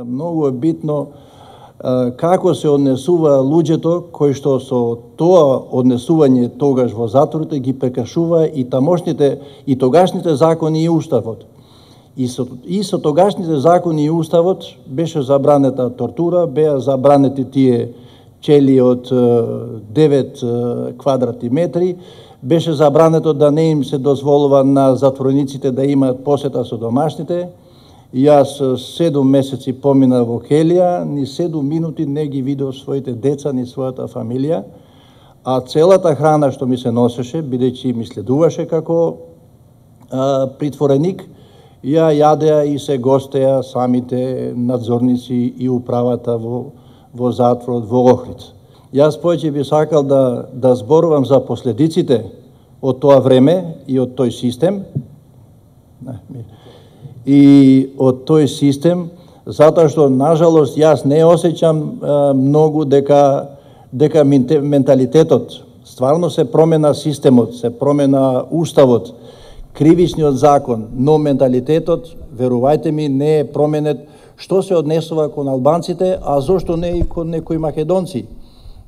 Многу е битно како се однесува луѓето кои што со тоа однесување тогаш во затворите ги прекршува и тамошните и тогашните закони и уставот. И со тогашните закони и уставот беше забранета тортура, беа забранети тие чели од 9 квадратни метри, беше забрането да не им се дозволува на затворениците да имаат посета со домашните. Јас 7 месеци помина во келија, ни 7 минути не ги видов своите деца, ни својата фамилија, а целата храна што ми се носеше, бидејќи ми следуваше како притвореник, ја јадеа и се гостеа самите надзорници и управата во затворот во Охрид. Јас повеќе би сакал да зборувам за последиците од тоа време и од тој систем, затоа што, нажалост, јас не осеќам многу дека менталитетот, стварно се промена системот, се промена уставот, кривичниот закон, но менталитетот, верувајте ми, не е променет. Што се однесува кон албанците, а зошто не и кон некои македонци?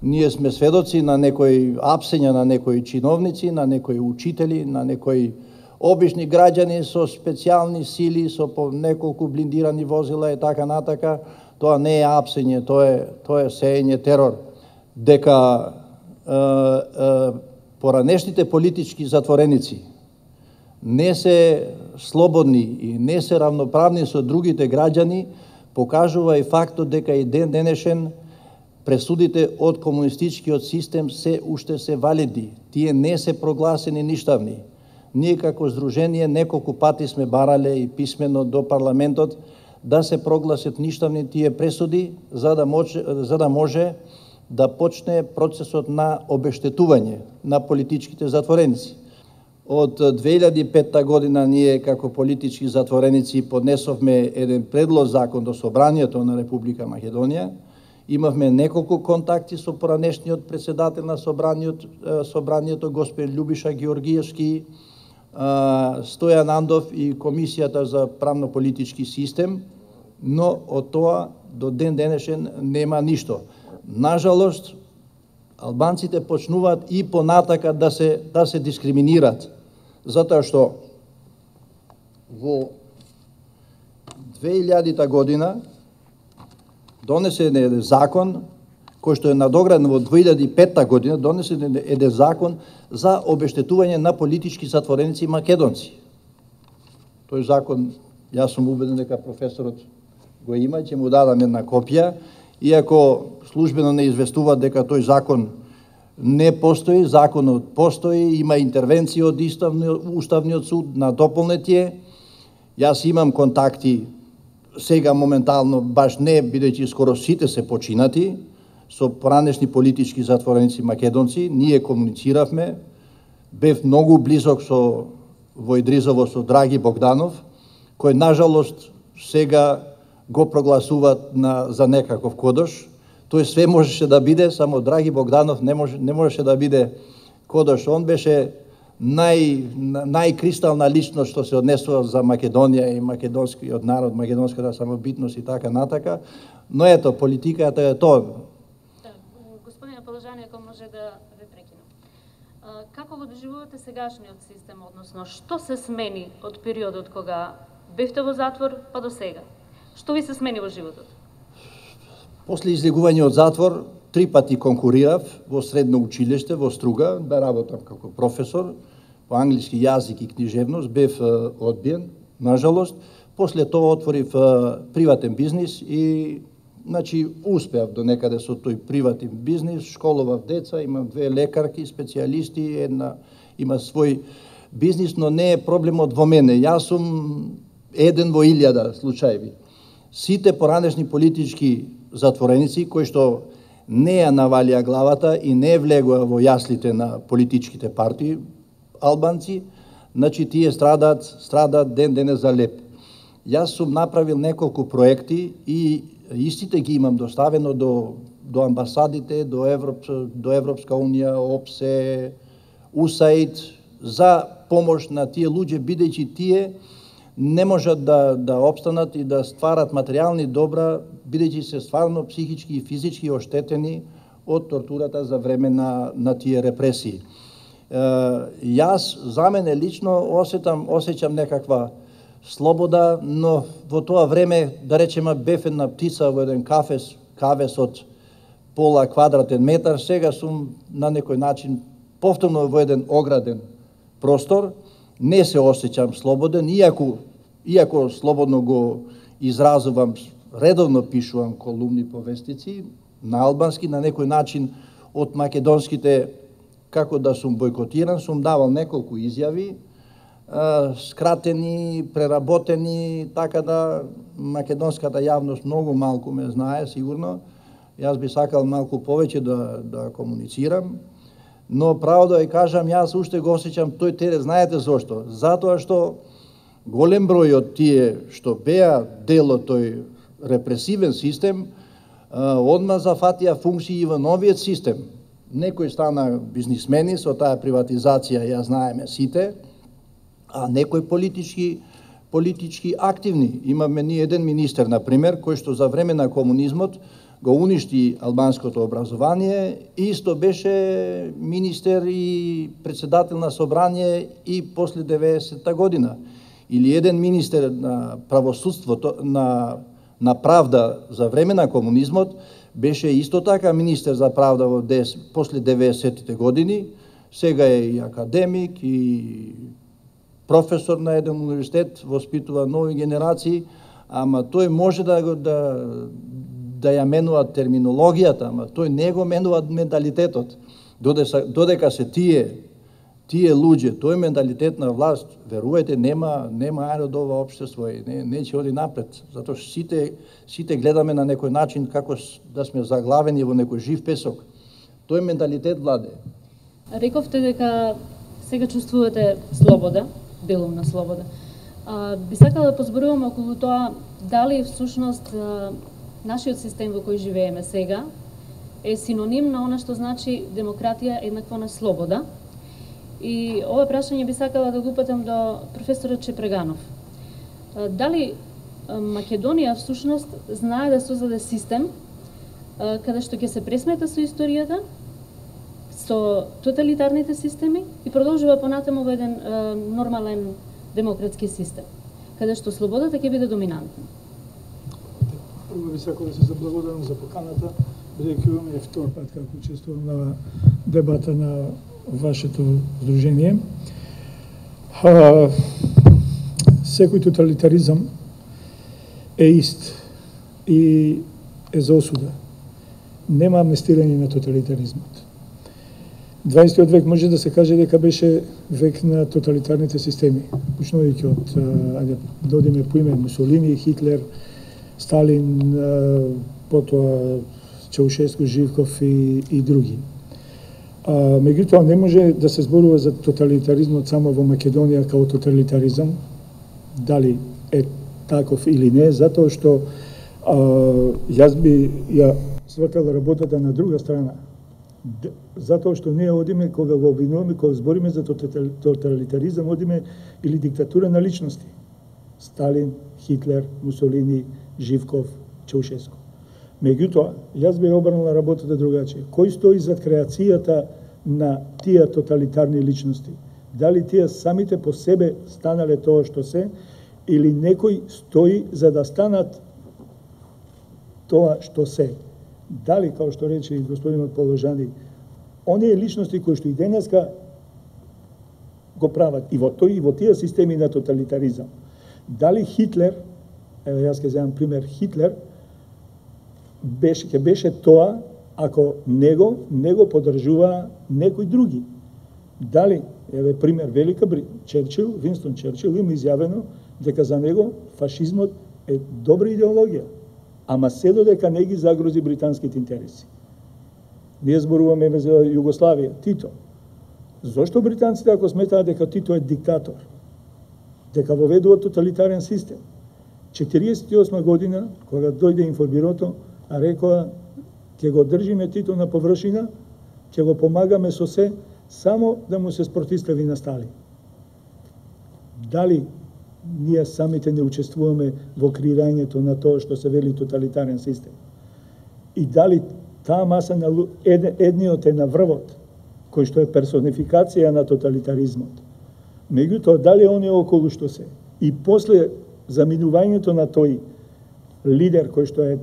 Ние сме сведоци на некои апсења на некои чиновници, на некои учители, на некои обични граѓани со специјални сили, со по неколку блиндирани возила и така натака. Тоа не е апсење, тоа е сеење терор. Дека поранешните политички затвореници не се слободни и не се равноправни со другите граѓани, покажува и фактот дека и ден денешен пресудите од комунистичкиот систем се уште се валидни. Тие не се прогласени ништавни. Ние како здружение неколку пати сме барале и писмено до парламентот да се прогласат ништавни тие пресуди, за да може да почне процесот на обештетување на политичките затвореници. Од 2005 година ние како политички затвореници поднесовме еден предлог закон до Собранието на Република Македонија. Имавме неколку контакти со поранешниот председател на Собранието, господин Љубиша Георгиевски, Стојан Андов и Комисијата за правно-политички систем, но од тоа до ден денешен нема ништо. Нажалост, албанците почнуваат и понатака да се дискриминират, затоа што во 2000 година донесен е закон кој што е надограден во 2005 година, донесен е закон за обештетување на политички затвореници македонци. Тој закон, јас сум убеден дека професорот го има, ќе му дадам една копија, иако службено не известува дека тој закон не постои, законот постои, има интервенција од Уставниот суд на дополнетие. Јас имам контакти сега моментално, баш не, бидејќи скоро сите се починати, со поранешни политички затвореници македонци, ние комунициравме, бев многу близок во Идризово со Драги Богданов, кој нажалост сега го прогласуваат за некаков кодош. Тој све можеше да биде, само Драги Богданов не можеше да биде кодош. Он беше најкристална личност што се однесува за Македонија и македонскиот народ, македонската самобитност и така натака. Но ето, политиката е тоа. Господине Полежани, ако може да ве прекинам. Како го доживувате сегашниот систем, односно што се смени од периодот кога бевте во затвор па до сега? Што ви се смени во животот? После излегување од затвор, 3 пати конкурирав во средно училиште во Струга, да работам како професор по англиски јазик и книжевност, бев одбиен, нажалост. После тоа отворив приватен бизнис и успеав до некаде со тој приватен бизнис, школував деца, имам 2 лекарки, специјалисти, една има свој бизнис, но не е проблемот во мене. Јас сум еден во 1000 случаи. Сите поранешни политички затвореници кои што не ја навалија главата и не влегоа во јаслите на политичките партии албанци, тие страдаат ден денес за леп. Јас сум направил неколку проекти и истите ги имам доставено до амбасадите, до Европска унија, ОПСЕ, УСАИД, за помош на тие луѓе, бидејќи тие не можат да опстанат и да стварат материјални добра, бидејќи се стварно психички и физички оштетени од тортурата за време на тие репресии. Јас, за мене лично, осеќам некаква слобода, но во тоа време, да речеме, бев една птица во еден кавес од пола квадратен метар, сега сум на некој начин повторно во еден ограден простор, не се осеќам слободен, иако слободно го изразувам, редовно пишувам колумни повестици на албански, на некој начин од македонските, како да сум бойкотиран, сум давал неколку изјави, скратени, преработени, така да македонската јавност многу малку ме знае, сигурно. Јас би сакал малку повеќе да комуницирам, но право да ја кажам, јас уште го осеќам тој терет, знаете зошто? Затоа што голем број од тие што беа дел од тој репресивен систем, одма зафатија функции и во новиот систем. Некои стана бизнисмени со таа приватизација, ја знаеме сите, а некои политички активни. Имаме ни еден министер, например, кој што за време на комунизмот го уништи албанското образование, исто беше министер и председател на собрание и после 90-та година. Или еден министер на правосудството, на правда за време на комунизмот, беше исто така министер за правда после 90-те години, сега е и академик, и професор на еден универзитет, воспитува нови генерации, ама тој може да ја менува терминологијата, ама тој не го менува менталитетот. Додека се тие луѓе, тој менталитет на власт, верувајте, нема ајде од ова општество и не ќе оди напред. Затоа сите гледаме на некој начин како да сме заглавени во некој жив песок. Тој менталитет владе. Рековте дека сега чувствувате слобода, делумна слобода. Би сакала да позборувам околу тоа дали всушност нашиот систем во кој живееме сега е синоним на она што значи демократија еднакво на слобода. И ова прашање би сакала да го упатам до професорот Чепреганов. Дали Македонија всушност знае да создаде систем каде што ќе се пресмета со историјата, со тоталитарните системи и продолжува понатаму во еден нормален демократски систем, каде што слободата ќе биде доминантна? Прво би сакал да се заблагодарам за поканата, бидејќи ова е втор пат како учествувам на дебата на вашето здружение. Секој тоталитаризам е ист и е за осуда. Нема амнестирање на тоталитаризмот. 20 век може да се каже дека беше век на тоталитарните системи, почнувајќи од да одиме по име Мусолини, Хитлер, Сталин, потоа Чаушеску, Живков и други. Меѓутоа не може да се зборува за тоталитаризмот само во Македонија као тоталитаризам, дали е таков или не, затоа што јас би ја свртал работата на друга страна. Затоа што ние одиме, кога го обвинуваме, кога збориме за тоталитаризам, одиме или диктатура на личности. Сталин, Хитлер, Мусолини, Живков, Чаушеску. Меѓутоа, јас би обрнала работата другачи. Кој стои зад креацијата на тие тоталитарни личности? Дали тие самите по себе станале тоа што се, или некој стои за да станат тоа што се? Дали, као што рече и господинот Положани, оние личности кои што и денеска го прават и во тој и во тие системи на тоталитаризам. Дали Хитлер, ево јас ќе земам пример, Хитлер ќе беше тоа ако него поддржува некои други. Дали, еве пример, Черчил, Винстон Черчил има изјавено дека за него фашизмот е добра идеологија, ама се додека не ги загрози британските интереси. Ние зборуваме за Југославија, Тито. Зошто британците, ако сметаат дека Тито е диктатор, дека воведува тоталитарен систем, 48 година, кога дојде информирото, рекоа, ќе го држиме Тито на површина, ќе го помагаме со се, само да му се спротистави на Сталин. Дали ние самите не учествуваме во креирањето на тоа што се вели тоталитарен систем. И дали таа маса на едниот е на врвот, кој што е персонификација на тоталитаризмот. Меѓутоа, дали оние околу што се, и после заминувањето на тој лидер кој што е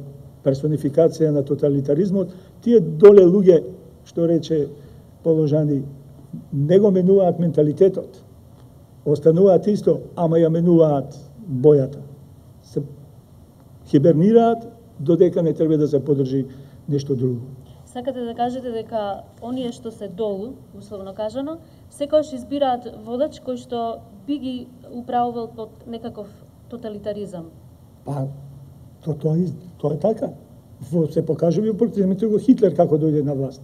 персонификација на тоталитаризмот, тие доле луѓе, што рече Положани, не го менуваат менталитетот. Остануваат исто, ама ја менуваат бојата. Се хибернираат, додека не треба да се подржи нешто друго. Сакате да кажете дека оние што се долу, условно кажано, секогаш избираат водач кој што би ги управувал под некаков тоталитаризам? Па, тоа е така. Се покажува и портретите го Хитлер како дојде на власт.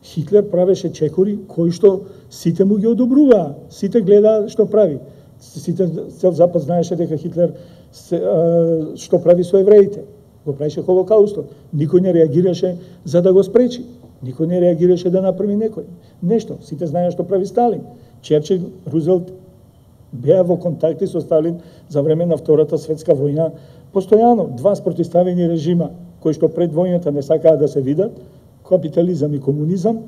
Хитлер правеше чекори кои што сите му ги одобруваа, сите гледаа што прави. Сите цел Запад знаеше дека Хитлер што прави со евреите. Го правеше Холокаустот. Никој не реагираше за да го спречи. Никој не реагираше да направи некој нешто. Сите знаеа што прави Сталин. Черчил, Рузвелт беа во контакти со Сталин за време на Втората светска војна. Постојано два спротивставени режима кои што пред војната не сакаа да се видат, капитализам и комунизам,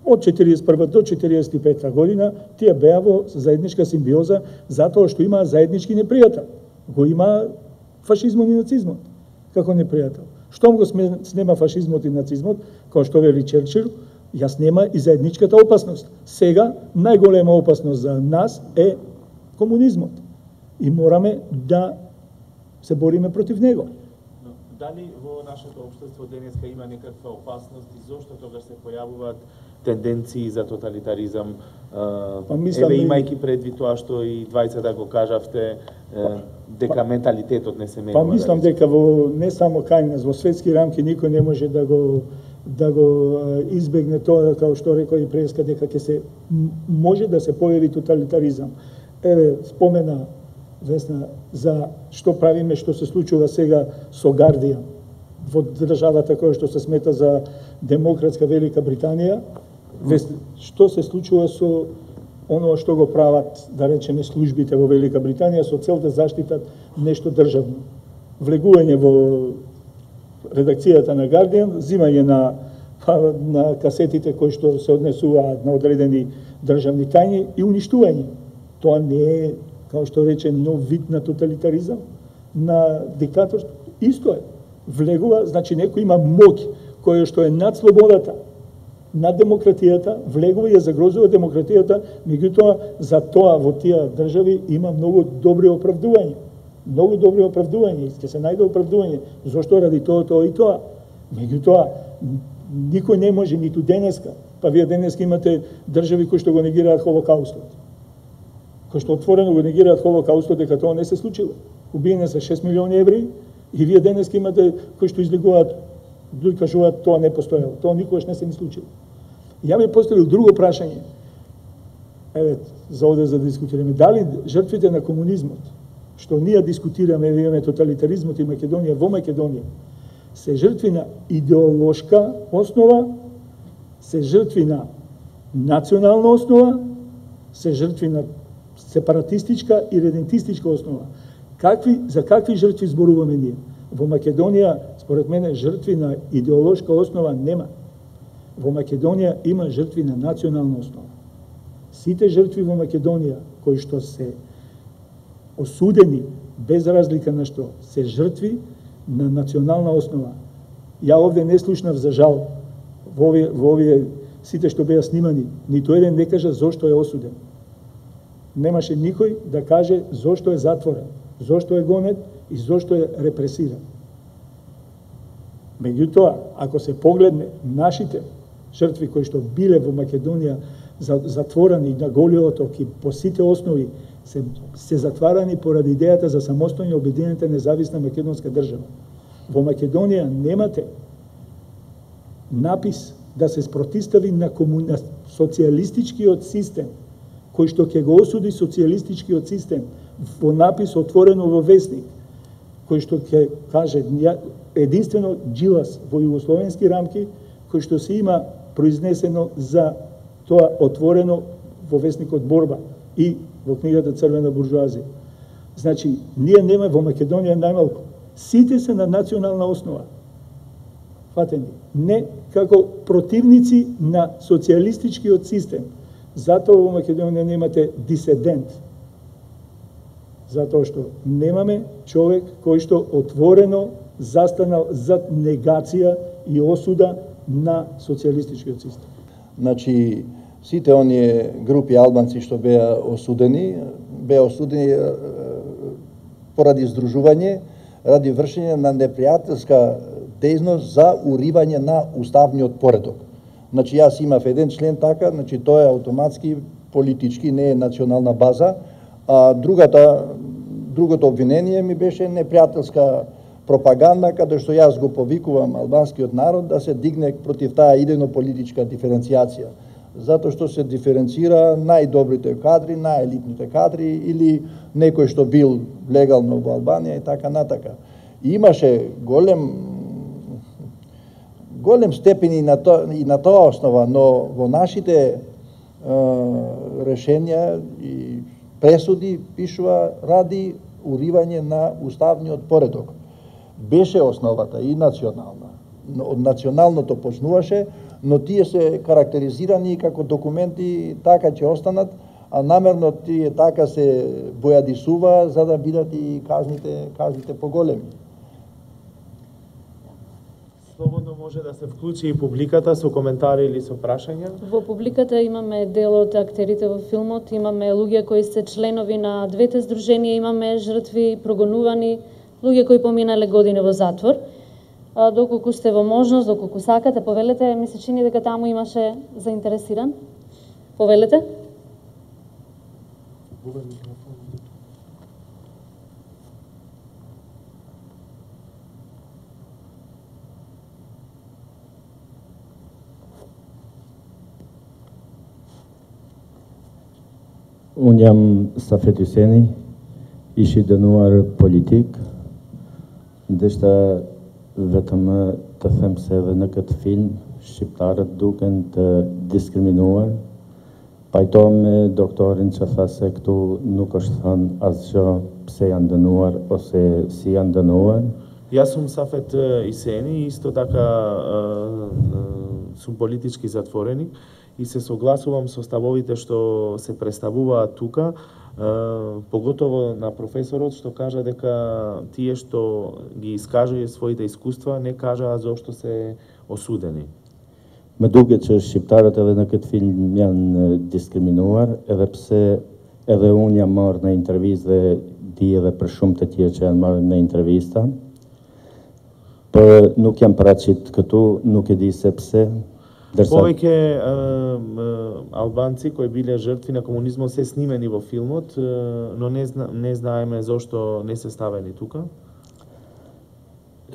од 41 до 45 година, тие беа во заедничка симбиоза затоа што имаа заеднички непријател. Го има фашизмот и нацизмот како непријател. Штом го снема фашизмот и нацизмот, како што вели Черчил, ја снема и заедничката опасност. Сега најголема опасност за нас е комунизмот. И мораме да се бориме против него. Дали во нашето општество денеска има некаква опасност и зошто тогаш се појавуваат тенденции за тоталитаризам? Еве имајќи предвид тоа што и двајцата го кажавте, дека менталитетот не се менува. Па мислам дека во не само кај нас, во светски рамки никој не може да го избегне тоа, како што рекоа и преска, дека ќе се може да се појави тоталитаризам. Еве спомена Весна за што правиме, што се случува сега со Гардијан во државата која што се смета за демократска Велика Британија. Што се случува со оно што го прават, да речеме, службите во Велика Британија со цел да заштитат нешто државно. Влегување во редакцијата на Гардијан, взимање на касетите кои што се однесуваат на одредени државни тајни и уништување. Тоа не е, како што рече, нов вид на тоталитаризам, на диктаторство. Исто е. Влегува, значи некој има моќ која што е над слободата, над демократијата, влегува и ја загрозува демократијата, меѓутоа за тоа во тие држави има многу добри оправдувања. Многу добри оправдувања, ќе се најде оправдување, зошто ради тоа и тоа. Меѓутоа, никој не може ниту денеска, па вие денеска имате држави кои што го негираат Холокаустот. Кои што отворено го негираат Холокаустот дека тоа не се случило. Убиени се 6 милиони евреи и вие денеска имате кои што излегуваат, да кажуваат тоа не постоело. Тоа никогаш не се ни случило. Ја ми поставил друго прашање. Еве, за овде за да дискутираме. Дали жртвите на комунизмот, што ние дискутираме, имаме тоталитаризмот и Македонија, во Македонија, се жртви на идеолошка основа, се жртви на национална основа, се жртви на сепаратистичка и редентистичка основа. За какви жртви зборуваме ние? Во Македонија, според мене, жртви на идеолошка основа нема. Во Македонија има жртви на национална основа. Сите жртви во Македонија, кои што се осудени, без разлика на што, се жртви на национална основа. Ја овде не слушнав, за жал, во овие сите што беа снимани, ниту еден не кажа зошто е осуден. Немаше никој да каже зошто е затворен, зошто е гонет и зошто е репресиран. Меѓутоа, ако се погледне нашите жртви кои што биле во Македонија затворени на голиот ок и по сите основи се затварани поради идејата за самостојна обединета независна македонска држава. Во Македонија немате напис да се спротистави на социјалистичкиот систем, кој што ќе го осуди социјалистичкиот систем во напис отворено во весник, кој што ќе каже единствено Джилас во југословенски рамки, кој што се има произнесено за тоа отворено во весникот Борба и во книгата Црвена буржуазија. Значи, ние нема во Македонија најмалку. Сите се на национална основа. Фатени. Не како противници на социјалистичкиот систем. Затоа во Македонија немате дисидент. Затоа што немаме човек кој што отворено застанал зад негација и осуда на социјалистичкиот систем. Значи, сите оние групи албанци што беа осудени поради здружување, ради вршење на непријателска дејност за уривање на уставниот поредок. Значи, јас имав еден член така, значи тоа е автоматски политички, не е национална база, а другото обвинение ми беше непријателска пропаганда, каде што јас го повикувам албанскиот народ да се дигне против таа идејно-политичка диференцијација. Затоа што се диференцира најдобрите кадри, најелитните кадри или некој што бил легално во Албанија и така натака. И имаше голем степени и на тоа основа, но во нашите решенја и пресуди пишува ради уривање на уставниот поредок. Беше основата и национална. Од националното почнуваше, но тие се карактеризирани како документи така ќе останат, а намерно тие така се бојадисува за да бидат и казните поголеми. Слободно може да се вклучи и публиката со коментари или со прашања. Во публиката имаме дел од актерите во филмот, имаме луѓе кои се членови на двете здруженија, имаме жртви, прогонувани, луѓе кои поминале години во затвор. Доколку сте во можност, доколку сакате, повелете, ми се чини дека таму имаше заинтересиран. Повелете. Unë jam Safet Hyseni, ishi dënuar politik, ndeshta vetëm të them se edhe në këtë film shqiptarët duken të diskriminuar. Pajto me doktorin që tha se këtu nuk është thënë asgjë pse janë dënuar ose si janë dënuar. Јас сум Сафет Исени, исто така сум политички затвореник и се согласувам со ставовите што се представуваат тука, поготово на професорот што кажа дека тие што ги искажува своите искуства не кажаа зошто се осудени. Më duket që shqiptarët edhe në këtë film janë diskriminuar, edhe pse edhe unë jam marrë në intervistë dhe di edhe për shumë të tjerë që janë marrë në intervista. Por nuk jam paraqit këtu, nuk e di se pse. Повеќе албанци кои биле жртви на комунизмот се снимени во филмот, но не знаеме зошто не се ставени тука.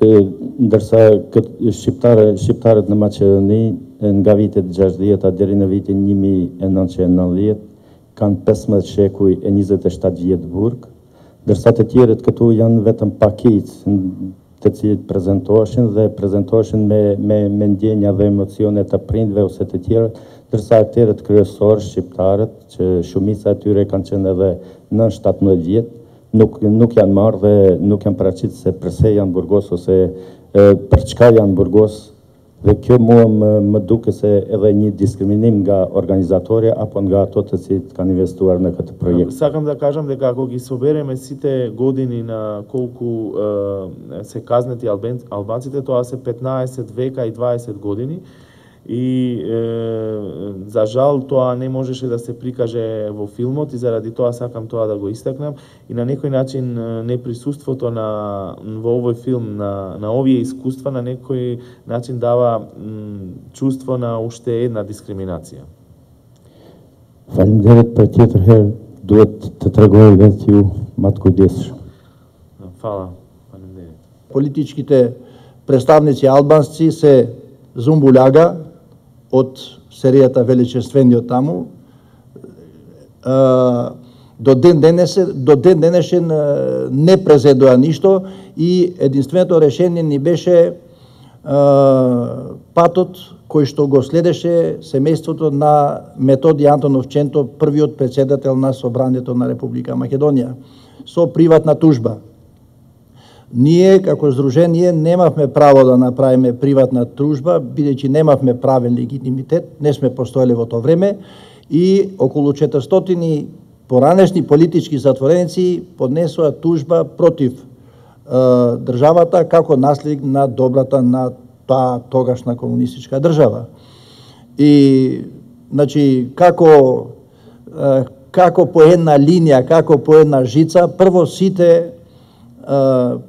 Ndërsa shqiptarët në Maqedoni nga vitet 60-a deri në vitin 1990 kanë 15 shekuj e 27 vjet burg, ndërsa të tjerët këtu janë vetëm pakicë të cilët prezentoheshin me ndjenja dhe emocione të prindve ose të tjerët, ndërsa akterët kryesorë shqiptarët, që shumica e tyre kanë qenë edhe nën 17 vjet, nuk janë marrë dhe nuk janë paraqit se përse janë burgos ose për çka janë burgos, dhe kjo mua më duke se edhe një diskriminim nga organizatorja apo nga ato të cilët kanë investuar në këtë projekt. Сакам да кажам дека ако ги собереме сите години на колку се казнети албанците, тоа се 15 века и 20 години. И за жал тоа не можеше да се прикаже во филмот и заради тоа сакам тоа да го истакнам и на некој начин неприсуството во овој филм на овие искуства на некој начин дава чувство на уште една дискриминација. Faleminderit për tjetër herë, duhet të tregoj vetë ju më të kujdesshëm. Фала, фалемдерит. Политичките представници албанци се зумбуляга од серијата Величествениот таму. До ден денешен не презедоа ништо и единственото решение ни беше патот кој што го следеше семејството на Методи Антонов Ченто, првиот председател на Собранието на Република Македонија. со приватна тужба. Ние, како здружение, немавме право да направиме приватна тужба, бидејќи немавме правен легитимитет, не сме постоеле во тоа време, и околу 400 поранешни политички затвореници поднесоа тужба против државата како наследник на добрата на таа тогашна комунистичка држава. И, значи, како по една линија, како по една жица, прво сите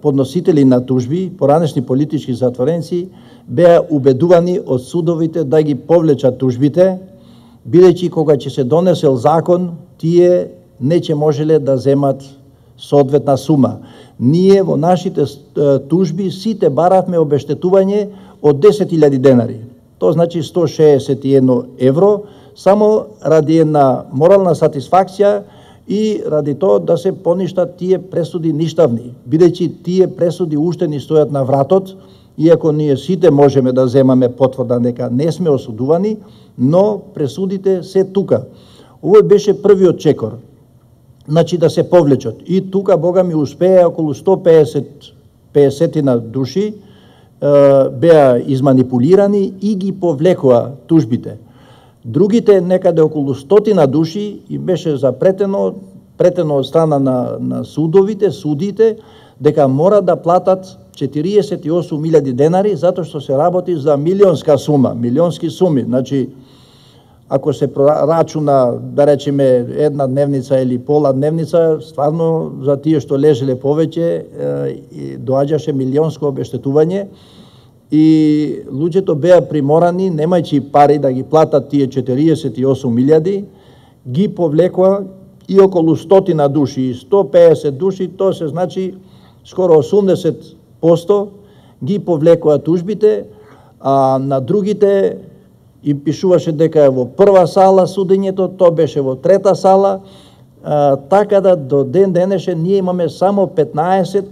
подносители на тужби, поранешни политички затвореници, беа убедувани од судовите да ги повлечат тужбите, бидејќи кога ќе се донесел закон, тие не ќе можеле да земат соодветна сума. Ние во нашите тужби сите баравме обештетување од 10.000 денари. Тоа значи 161 евро, само ради една морална сатисфакција и ради тоа да се поништат тие пресуди ништавни, бидејќи тие пресуди уште ни стојат на вратот, иако ние сите можеме да земаме потврда дека не сме осудувани, но пресудите се тука. Овој беше првиот чекор, значи да се повлечат. И тука, Бога ми, успеа околу 150 души беа изманипулирани и ги повлекоа тужбите. Другите, некаде околу 100 души, им беше запретено од страна на судиите, дека мора да платат 48.000 денари, затоа што се работи за милионска сума, милионски суми. Значи, ако се прорачуна, да речеме, една дневница или пола дневница, стварно за тие што лежеле повеќе, доаѓаше милионско обештетување и луѓето беа приморани, немајќи пари да ги платат тие 48.000, ги повлекоа и околу 100 души, 150 души, тоа се значи скоро 80% ги повлекоа тужбите, а на другите им пишуваше дека е во прва сала судењето, тоа беше во трета сала, така да до ден денешен ние имаме само 15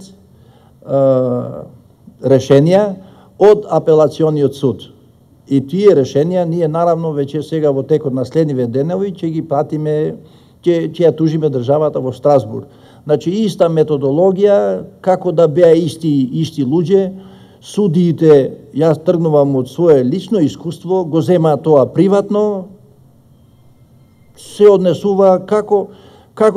решенија од апелациониот суд. И тие решенија ние наравно веќе сега во текот на следниве денови ќе ги пратиме, ќе ја тужиме државата во Страсбург. Значи иста методологија, како да беа исти луѓе, судиите, јас тргнувам од свое лично искуство, го земаат тоа приватно, се однесува како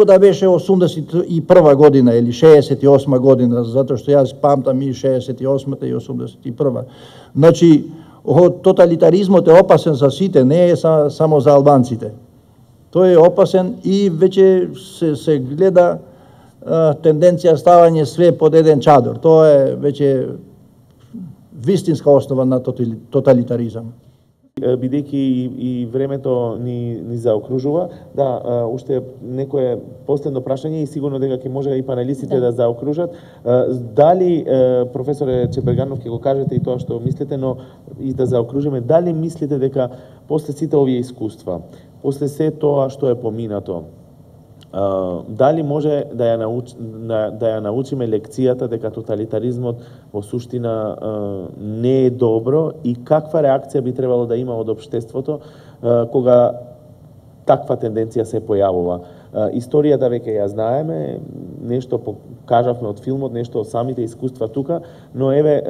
да беше 81 година или 68 година, затоа што јас памтам и 68-та и 81-та. Значи, тоталитаризмот е опасен за сите, не е само за албанците. Тој е опасен и веќе се гледа тенденција ставање све под еден чадор. Тоа е веќе вистинска основа на тоталитаризам. Бидејќи и времето ни заокружува, да, уште некое последно прашање и сигурно дека ќе може и панелистите да заокружат. Дали, професоре Чеберганов, ќе го кажете и тоа што мислите, но и да заокружиме, дали мислите дека после сите овие искуства, после се тоа што е поминато, дали може да ја научиме лекцијата дека тоталитаризмот во суштина не е добро и каква реакција би требало да има од општеството кога таква тенденција се појавува? Историјата веќе ја знаеме, нешто кажавме од филмот, нешто од самите искуства тука, но еве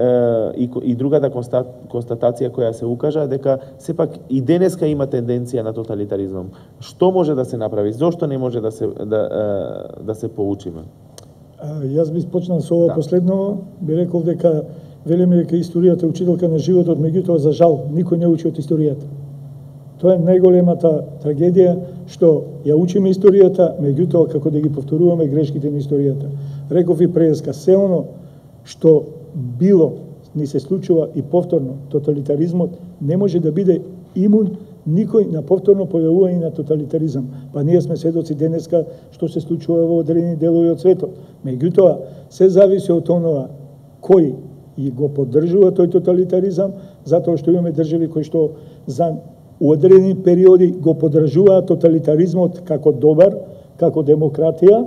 и другата констатација која се укажа дека сепак и денеска има тенденција на тоталитаризмом. Што може да се направи? Зошто не може да се поучиме? Јас би почнал со ова последно, би рекол дека велиме дека историјата е учителка на животот, меѓутоа за жал никој не учи од историјата. Тоа е најголемата трагедија, што ја учиме историјата, меѓутоа како да ги повторуваме грешките на историјата. Реков и преска, се оно што било ни се случува и повторно, тоталитаризмот не може да биде имун никој на повторно појавување на тоталитаризам. Па ние сме сведоци денеска што се случува во одредени делови од светот. Меѓутоа, се зависи од онова кој и го поддржува тој тоталитаризам, затоа што имаме држави кои што за одредени периоди го поддржуваат тоталитаризмот како добар, како демократија,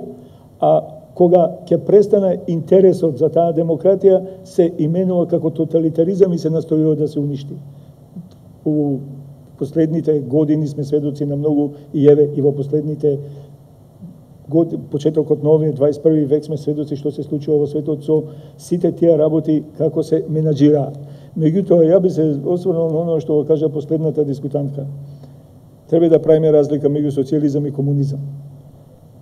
а кога ќе престане интересот за таа демократија, се именува како тоталитаризам и се настојува да се уништи. У последните години сме сведоци на многу и еве и во последните почетокот на овие 21 век сме сведоци што се случува во светот со сите тие работи како се менаџираат. Меѓутоа, ја би се осврнал на оно што го кажа последната дискутантка. Треба да правиме разлика меѓу социјализам и комунизам.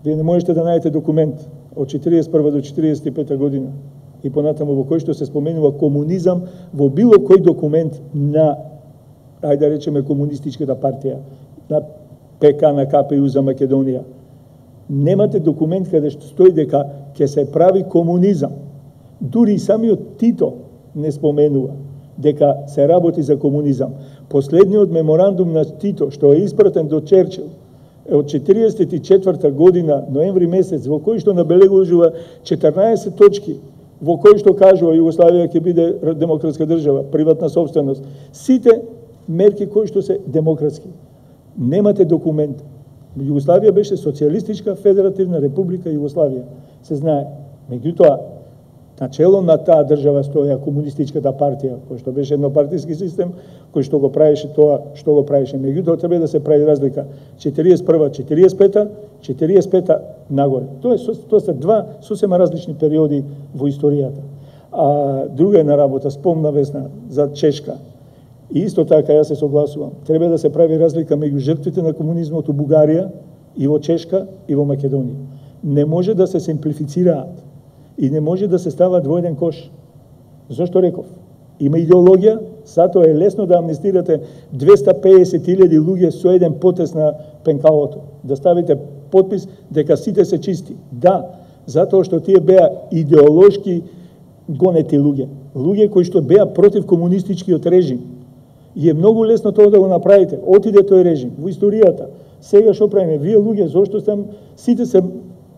Вие не можете да најдете документ од 41 до 45 година и понатаму во кој што се споменува комунизам во било кој документ на, ајде да речеме, комунистичката партија, на ПК, на КПУ за Македонија. Немате документ каде што стои дека ќе се прави комунизам. Дури и самиот Тито не споменува дека се работи за комунизам. Последниот меморандум на Тито, што е испратен до Черчил, е од 44 година, ноември месец, во кој што набелегува 14 точки, во кој што кажува Југославија ќе биде демократска држава, приватна собственост. Сите мерки кои што се демократски. Немате документ. Југославија беше социјалистичка федеративна република Југославија. Се знае. Меѓутоа, начело на таа држава стоја комунистичката партија, кој што беше еднопартиски систем, кој што го правеше тоа што го правеше. Меѓутоа, треба да се прави разлика. 41-та, 45-та, 45-та нагоре. Тоа се два сосема различни периоди во историјата. А друга една работа, спомна Весна за Чешка. И исто така јас се согласувам. Треба да се прави разлика меѓу жртвите на комунизмот у Бугарија и во Чешка и во Македонија. Не може да се симплифицираат и не може да се стават во еден кош. Зошто реков? Има идеологија, затоа е лесно да амнестирате 250.000 луѓе со еден потез на пенкалото. Да ставите подпис дека сите се чисти. Да, затоа што тие беа идеолошки гонети луѓе. Луѓе кои што беа против комунистичкиот режим. И е многу лесно тоа да го направите. Отиде тој режим во историјата. Сега што правиме? Вие луѓе, зошто сите се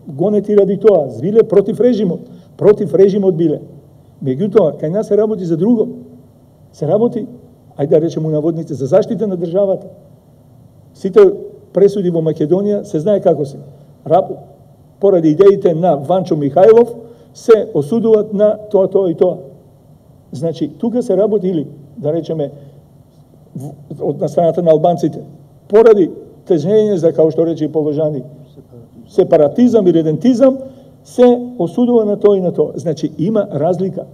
гонети ради тоа? Биле против режимот. Против режимот биле. Меѓутоа, кај нас се работи за друго. Се работи, ајде да речеме наводници, за заштита на државата. Сите пресуди во Македонија се знае како се. Поради идеите на Ванчо Михајлов се осудуваат на тоа и тоа. Значи, тука се работи или, да речеме, од страната на албанците, поради тежнење за, као што рече и Положани, сепаратизам и редентизам, се осудува на тоа и на тоа. Значи, има разлика.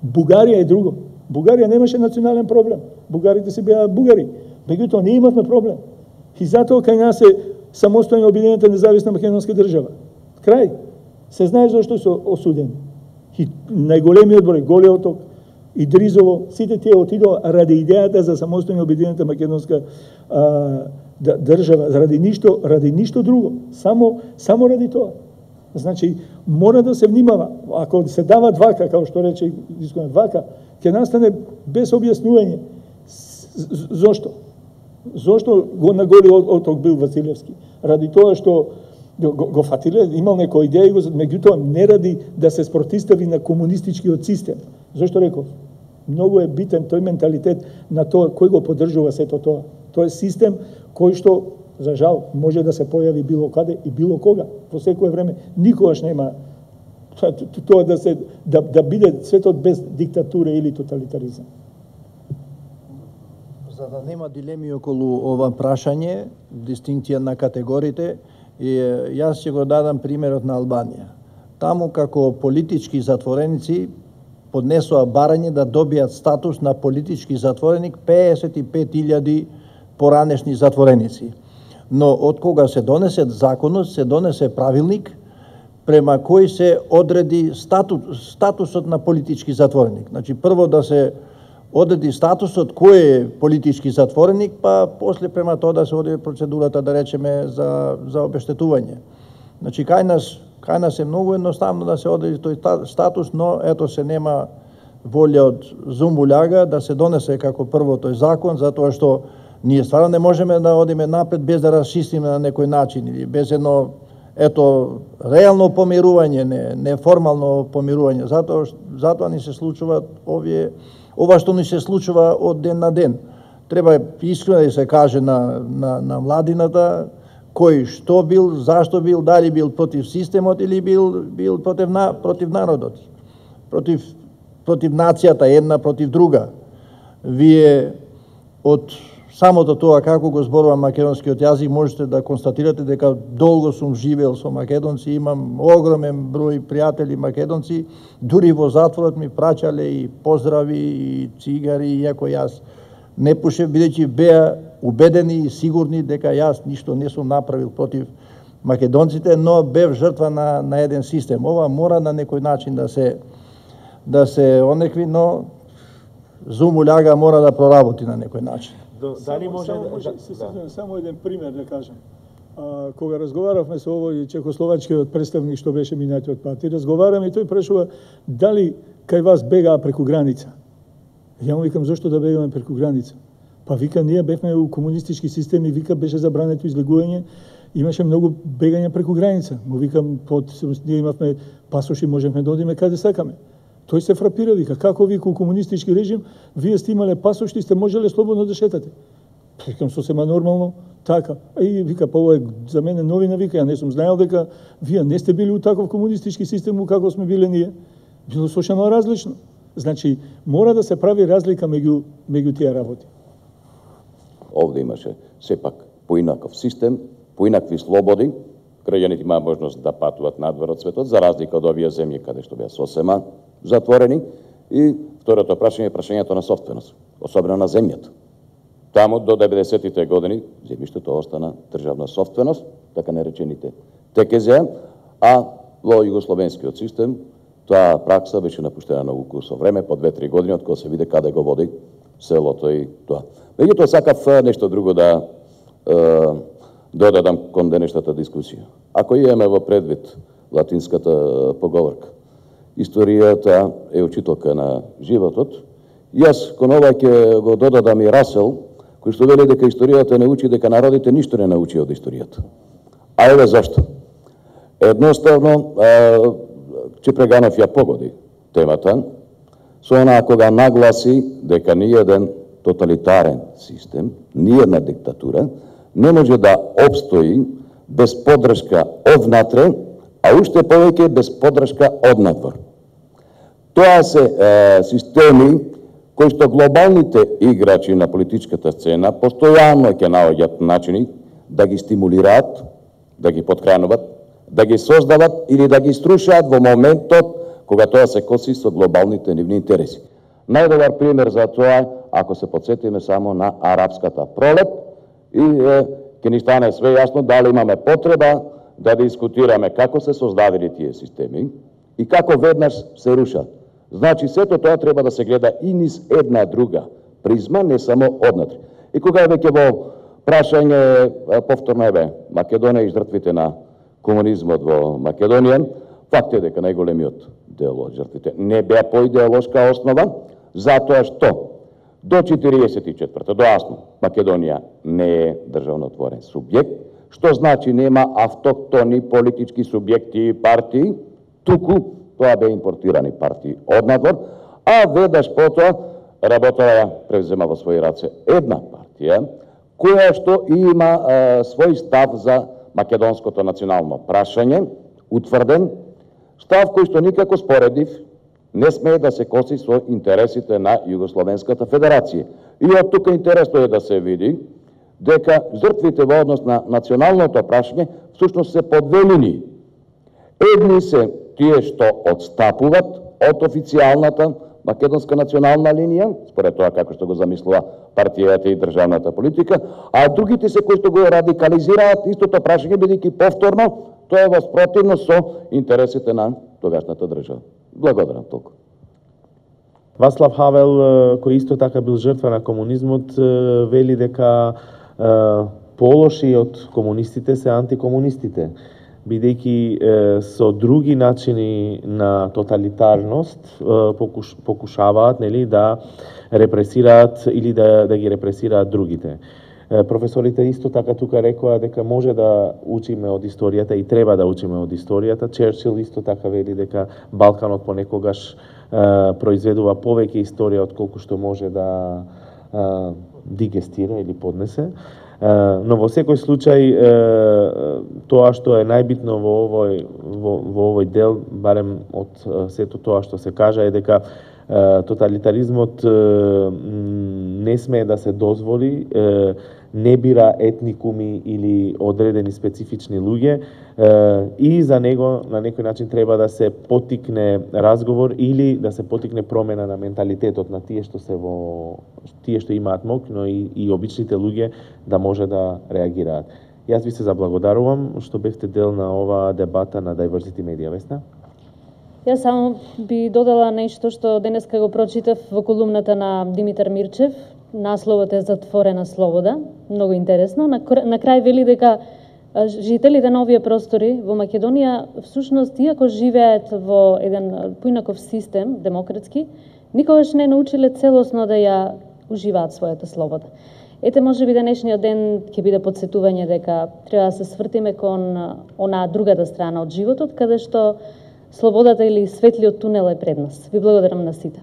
Бугарија е друго. Бугарија немаше национален проблем. Бугарите се беа бугари. Меѓутоа, не имавме проблем. И затоа кај нас е самостојна обединета независна македонска држава. Крај. Се знае зашто се осудени. И најголемиот број, Голи Оток, Идризово, сите тие отидоа ради идејата за самостојна обединета македонска држава, ради ништо друго. Само ради тоа. Значи, мора да се внимава. Ако се дават вака, како што рече вака, ќе настане без објаснување. Зошто? Зошто го на Голи Оток бил Василевски? Ради тоа што го фатиле, имал некоја идеја, меѓутоа не ради да се спротистави на комунистичкиот систем. Зошто реков? Многу е битен тој менталитет на тоа кој го поддржува сето тоа. Тоа е систем кој што, за жал, може да се појави било каде и било кога, во секое време. Никогаш нема тоа да биде светот без диктатура или тоталитаризам. За да нема дилеми околу ова прашање, дистинкција на категориите, јас ќе го дадам примерот на Албанија. Таму како политички затвореници поднесоа барање да добијат статус на политички затвореник 55.000 поранешни затвореници. Но од кога се донесе законот, се донесе правилник према кој се одреди статусот на политички затвореник. Значи, прво да се одреди статусот кој е политички затвореник, па после према тоа да се одреди процедурата, да речеме, за обештетување. Значи, кај нас е многу едноставно да се одреди тој статус, но ето се нема волја од Зумбуљага да се донесе како прво тој закон, затоа што ние стварно не можеме да одиме напред без да расчистиме на некој начин или без едно реално помирување, неформално помирување. Затоа ни се случува ова што ни се случува од ден на ден. Треба искрено да се каже на младината кој што бил, зашто бил, дали бил против системот или бил против народот, против нацијата една против друга. Вие од самото тоа како го зборувам македонскиот јазик, можете да констатирате дека долго сум живеел со македонци, имам огромен број пријатели македонци, дури во затворот ми праќале и поздрави и цигари, иако јас не пушев, бидејќи беа убедени и сигурни дека јас ништо не сум направил против македонците, но бев жртва на еден систем. Ова мора на некој начин да се онекви, но Зумуљага мора да проработи на некој начин. Дали може само еден пример да кажам. Кога разговаравме со овој чехословачкиот представник што беше минатиот пат, и разговараме, и тој прашува дали кај вас бегаа преку граница. Ја му викам зошто да бегаме преку граница? Па вика ние бевме у комунистички системи, вика беше забрането излегување, имаше многу бегање преку граница. Му викам ние имавме пасоши, можевме да одиме каде сакаме. Тој се фрапира, вика, како вика у комунистички режим, вие сте имале пасошти, сте можеле слободно да шетате. Викам, сосема нормално, така. И вика, па ова е за мене новина, вика, ја не сум знаел дека вие не сте били у таков комунистички систем, како сме биле ние. Било сошено различно. Значи, мора да се прави разлика меѓу тие работи. Овде имаше сепак поинаков систем, поинакви слободи, граѓаните имаа можност да патуват надвор од светот, за разлика од овие земји каде што беа сосема затворени. И второто прашање е прашањето на собственост, особено на земјата. Таму до 90-тите години земјиштето остана државна собственост, така наречените ТКЗ, а во југословенскиот систем таа пракса беше напуштена на укус со време, по 2-3 години, од кога се виде каде го води селото и тоа. Меѓутоа сакав нешто друго да додадам кон денешната дискусија. Ако имаме во предвид латинската поговорка, историјата е учителка на животот, јас кон ова ќе го додадам и Расел, кој што вели дека историјата не учи, дека народите ништо не научи од историјата. А еве зашто. Едноставно, Чепреганов ја погоди темата, со она кога нагласи дека ниеден тоталитарен систем, ниедна диктатура, не може да обстои без поддршка однатре, а уште повеќе без поддршка однадвор. Тоа се системи кои што глобалните играчи на политичката сцена постојано ќе наоѓаат начини да ги стимулираат, да ги поткрануваат, да ги создават или да ги струшаат во моментот кога тоа се коси со глобалните нивни интереси. Најдобар пример за тоа, ако се подсетиме само на арапската пролет, и ќе ни стане све јасно дали имаме потреба да дискутираме како се создадени тие системи и како веднаш се рушат. Значи, сето тоа треба да се гледа и низ една друга призма, не само однатре. И кога е веќе во прашање, повторно Македонија и жртвите на комунизмот во Македонија, факт е дека најголемиот дел од жртвите не беа по идеолошка основа, затоа што до 44-та, до асно, Македонија не е државнотворен субјект, што значи нема автохтони политички субјекти и партии, туку тоа бе импортирани партии однадвор, а веднаш потоа работава ја превзема во своји раце една партија, која што има свој став за македонското национално прашање, утврден, став кој што никако споредив не смее да се коси со интересите на Југословенската федерација. И од тука интересно е да се види дека жртвите во однос на националното прашање всушност се по две линии. Едни се тие што одстапуват од официјалната македонска национална линија, според тоа како што го замислува партијата и државната политика, а другите се кои што го радикализираат истото прашање, бидејќи повторно тоа е во спротивност со интересите на тогашната држава. Благодарам толку. Вацлав Хавел, кој исто така бил жртва на комунизмот, вели дека полоши од комунистите се антикомунистите, бидејќи со други начини на тоталитарност покушаваат, нели, да репресираат или да ги репресираат другите. Професорите исто така тука рекоа дека може да учиме од историјата и треба да учиме од историјата. Черчил исто така вели дека Балканот понекогаш произведува повеќе историја од колку што може да дигестира или поднесе. Но во секој случај тоа што е најбитно во овој дел, барем од сето тоа што се кажа, е дека Тоталитаризмот не смее да се дозволи, не бира етникуми или одредени специфични луѓе и за него на некој начин треба да се поттикне разговор или да се поттикне промена на менталитетот на тие што имаат моќ, но и обичните луѓе да може да реагираат. Јас ви се заблагодарувам што бевте дел на оваа дебата на Diversity Media, Весна. Јас само би додала нешто што денеска го прочитав во колумната на Димитар Мирчев. Насловот е "Затворена слобода", многу интересно. На крај вели дека жителите на овие простори во Македонија всушност иако живеат во еден поинаков систем демократски, никогаш не научиле целосно да ја уживаат својата слобода. Ете, можеби денешниот ден ќе биде потсетување дека треба да се свртиме кон онаа другата страна од животот, каде што слободата или светлиот тунел е пред нас. Ви благодарам на сите.